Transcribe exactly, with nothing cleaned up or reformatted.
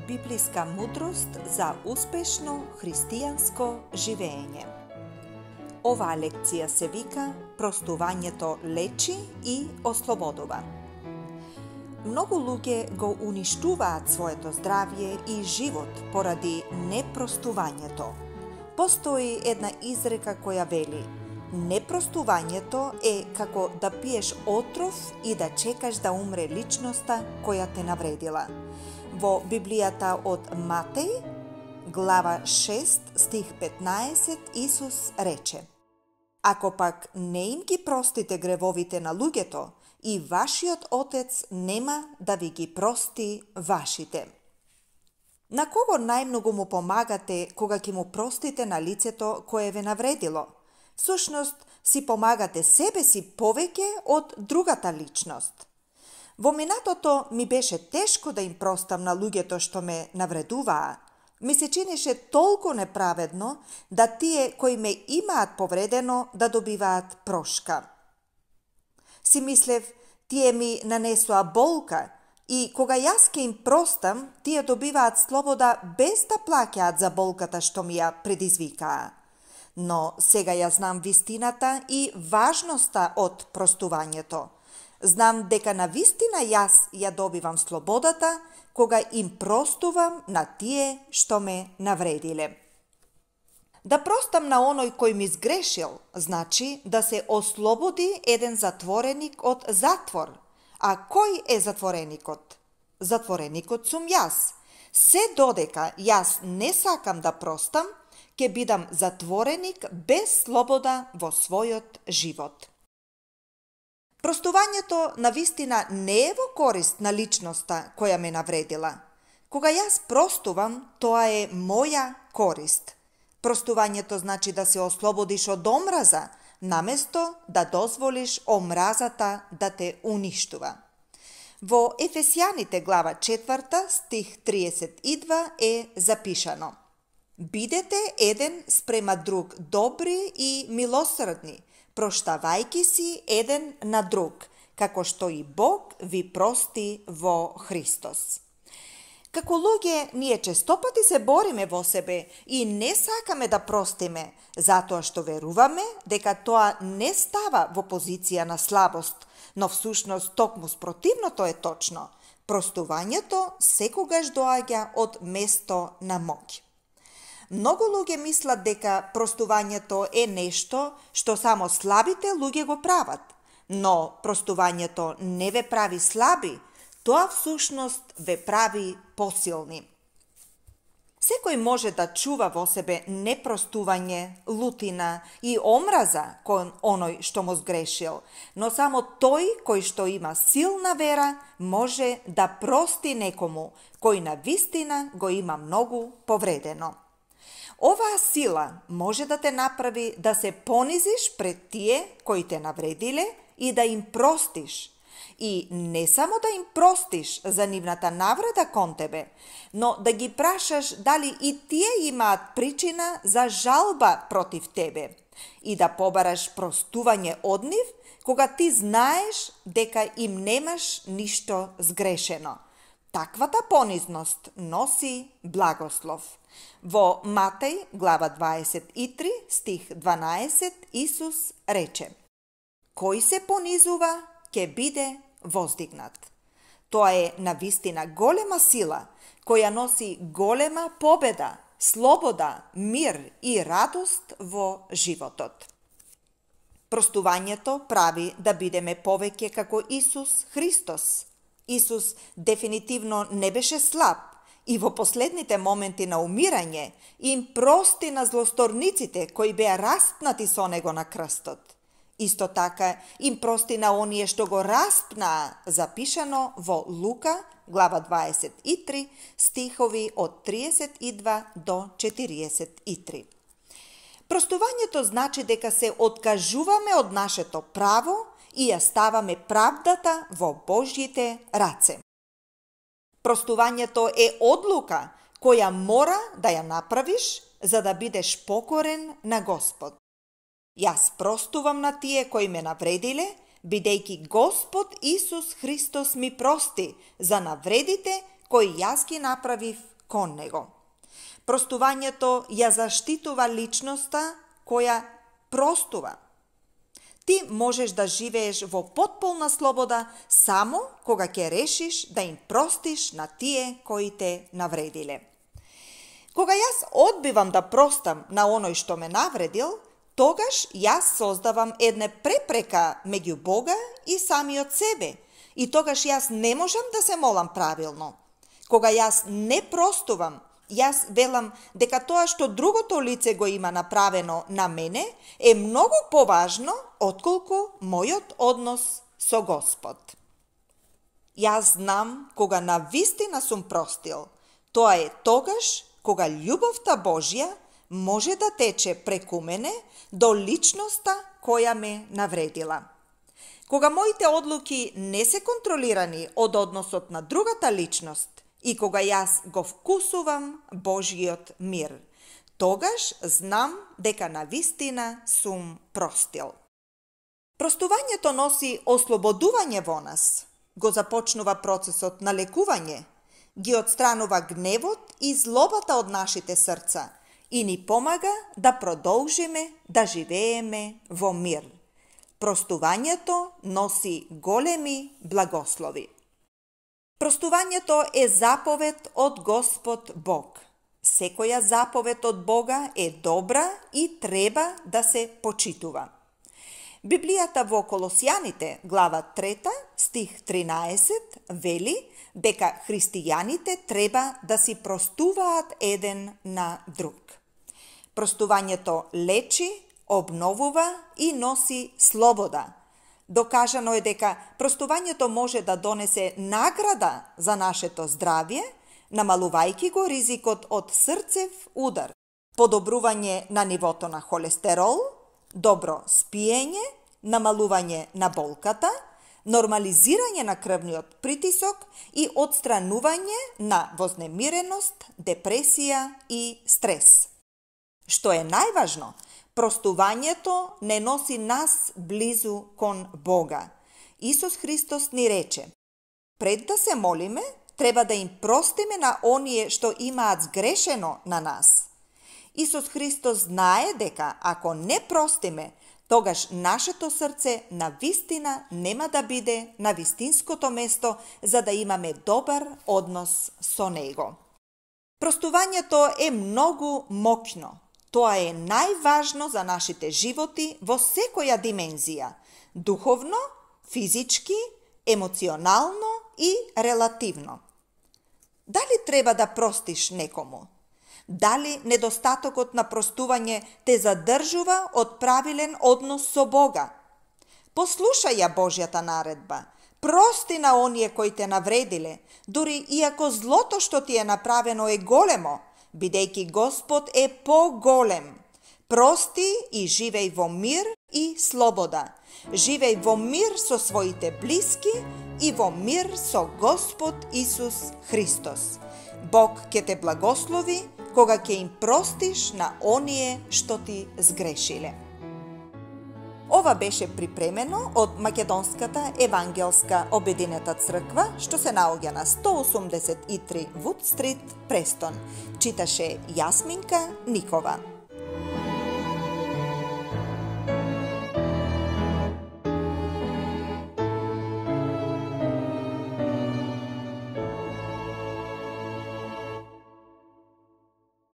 библиска мудрост за успешно христијанско живење. Оваа лекција се вика "Простувањето лечи и ослободува". Многу луѓе го уништуваат своето здравје и живот поради непростувањето. Постои една изрека која вели: непростувањето е како да пиеш отров и да чекаш да умре личноста која те навредила. Во Библијата од Матеј, глава шест, стих петнаесет, Исус рече: Ако пак не им ги простите гревовите на луѓето, и вашиот Отец нема да ви ги прости вашите. На кого најмногу му помагате кога ќе му простите на лицето кое ве навредило? Всушност, си помагате себе си повеќе од другата личност. Во минатото ми беше тешко да им простам на луѓето што ме навредуваа. Ми се чинеше толку неправедно да тие кои ме имаат повредено да добиваат прошка. Си мислев, тие ми нанесоа болка и кога јас ке им простам, тие добиваат слобода без да плаќаат за болката што ми ја предизвикаа. Но сега ја знам вистината и важноста од простувањето. Знам дека на вистина јас ја добивам слободата кога им простувам на тие што ме навредиле. Да простам на оној кој ми сгрешил, значи да се ослободи еден затвореник од затвор. А кој е затвореникот? Затвореникот сум јас. Се додека јас не сакам да простам, ќе бидам затвореник без слобода во својот живот. Простувањето на вистина не е во корист на личноста која ме навредила. Кога јас простувам, тоа е моја корист. Простувањето значи да се ослободиш од омраза, наместо да дозволиш омразата да те уништува. Во Ефесјаните глава четврта, стих триесет и два е запишано: Бидете еден спрема друг добри и милосрдни, проштавајки си еден на друг, како што и Бог ви прости во Христос. Како луѓе, ние честопати се бориме во себе и не сакаме да простиме, затоа што веруваме дека тоа не става во позиција на слабост, но всушност токму спротивното е точно. Простувањето секогаш доаѓа од место на моќ. Многу луѓе мислат дека простувањето е нешто што само слабите луѓе го прават, но простувањето не ве прави слаби, тоа всушност ве прави посилни. Секој може да чува во себе непростување, лутина и омраза кон оној што му сгрешил, но само тој кој што има силна вера може да прости некому кој на вистина го има многу повредено. Оваа сила може да те направи да се понизиш пред тие кои те навредиле и да им простиш. И не само да им простиш за нивната навреда кон тебе, но да ги прашаш дали и тие имаат причина за жалба против тебе и да побараш простување од нив кога ти знаеш дека им немаш ништо сгрешено. Таквата понизност носи благослов. Во Матеј, глава дваесет и три, стих дванаесет, Исус рече: Кој се понизува, ќе биде воздигнат. Тоа е навистина голема сила, која носи голема победа, слобода, мир и радост во животот. Простувањето прави да бидеме повеќе како Исус Христос. Исус дефинитивно не беше слаб и во последните моменти на умирање им прости на злосторниците кои беа распнати со него на крстот. Исто така им прости на оние што го распнаа, запишано во Лука, глава дваесет и три, стихови од триесет и два до четириесет и три. Простувањето значи дека се откажуваме од нашето право и ја ставаме правдата во Божјите раце. Простувањето е одлука која мора да ја направиш за да бидеш покорен на Господ. Јас простувам на тие кои ме навредиле, бидејќи Господ Исус Христос ми прости за навредите кои јас ги направив кон него. Простувањето ја заштитува личноста која простува. Ти можеш да живееш во потполна слобода само кога ќе решиш да им простиш на тие кои те навредиле. Кога јас одбивам да простам на оној што ме навредил, тогаш јас создавам една препрека меѓу Бога и самиот себе, и тогаш јас не можам да се молам правилно. Кога јас не простувам, јас велам дека тоа што другото лице го има направено на мене е многу поважно отколку мојот однос со Господ. Јас знам кога навистина сум простил. Тоа е тогаш кога љубовта Божја може да тече преку мене до личноста која ме навредила. Кога моите одлуки не се контролирани од односот на другата личност и кога јас го вкусувам Божјиот мир, тогаш знам дека навистина сум простил. Простувањето носи ослободување во нас, го започнува процесот на лекување, ги отстранува гневот и злобата од нашите срца и ни помага да продолжиме да живееме во мир. Простувањето носи големи благослови. Простувањето е заповед од Господ Бог. Секоја заповед од Бога е добра и треба да се почитува. Библијата во Колосјаните, глава трета, стих тринаесет, вели дека христијаните треба да си простуваат еден на друг. Простувањето лечи, обновува и носи слобода. Докажано е дека простувањето може да донесе награда за нашето здравје, намалувајќи го ризикот од срцев удар, подобрување на нивото на холестерол, добро спиење, намалување на болката, нормализирање на крвниот притисок и отстранување на вознемиреност, депресија и стрес. Што е најважно, простувањето не носи нас близу кон Бога. Исус Христос ни рече: пред да се молиме, треба да им простиме на оние што имаат сгрешено на нас. Исус Христос знае дека ако не простиме, тогаш нашето срце на вистина нема да биде на вистинското место за да имаме добар однос со Него. Простувањето е многу моќно. Тоа е најважно за нашите животи во секоја димензија – духовно, физички, емоционално и релативно. Дали треба да простиш некому? Дали недостатокот на простување те задржува од правилен однос со Бога? Послушај ја Божјата наредба. Прости на оние кои те навредиле, дури иако злото што ти е направено е големо, бидејќи Господ е поголем. Прости и живеј во мир и слобода. Живеј во мир со своите блиски и во мир со Господ Исус Христос. Бог ќе те благослови кога ќе им простиш на оние што ти сгрешиле. Ова беше припремено од Македонската евангелска обединета црква, што се наоѓа на сто осумдесет и три Вуд Стрит, Престон. Читаше Јасминка Никова.